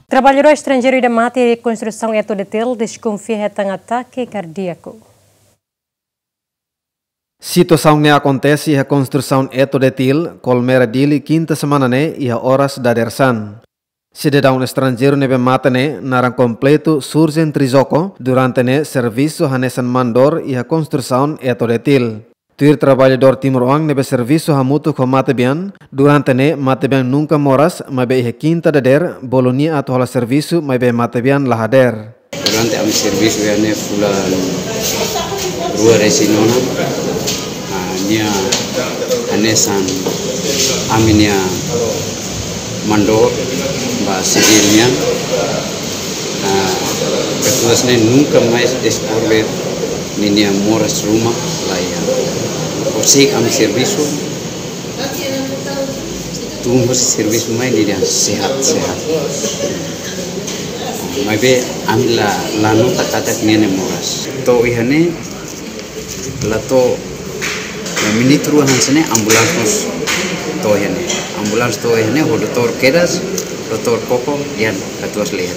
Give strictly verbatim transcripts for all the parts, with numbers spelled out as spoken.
Traballadór estranjeiru ida mate iha konstrusaun Eto Detil deskonfia hetan atake kardíaku. Situasaun ne'e akontese iha konstrusaun Eto Detil, Kolmera, Dili, kinta semana ne'e iha oras dadeer-saan. Sidadaun estranjeiru ne'ebé mate ne'e naran kompletu Surgen Trizoko, durante ne'e servisu hanesan mandór iha konstrusaun Eto Detil. Tuir traballadór timoroan ne'ebé servisu hamutuk ho matebian, durante ne'e matebian nunka moras, maibé iha kinta dadeer, bolu nia atu hola servisu, maibé matebian la hadeer. Durante ami servisu iha ne'e fulan rua resin ona, ah, nia hanesan ami-nia mandór ba sivíl nian. Ah, katuas ne'e nunka mais deskurbe ninia moras ruma la iha. Horiseik ami servisu, tun husi servisu mai ninia sehat, sehat. Maibé ami la, la nota katak nia ne'e moras. To'o iha ne'e, la to'o, ya, minutu rua hanesan ne'e ambulánsia mós to'o iha ne'e. Ambulánsia to'o iha ne'e ho doutór kedas, doutór koko, ya, katuas la iha.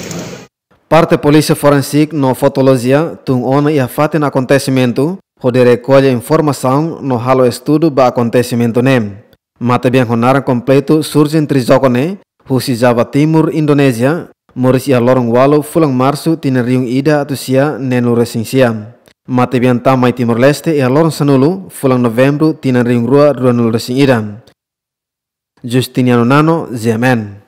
Parte polísia forensík no fotolojia tun ona iha fatin akontesimentu, hodi rekolla informasaun no halo estudu ba akontesimentu ne'e. Matebian ho naran kompletu Surgen Trizoko ne'e, husi Java Timur, Indonézia, moris iha loron ualu fulan Marsu tinan rihun ida atus sia neenulu resin sia. Matebian tama mai Timor-Leste iha loron sanulu fulan Novembru tinan rihun rua ruanulu resin ida. Justiniano Nano, G M N.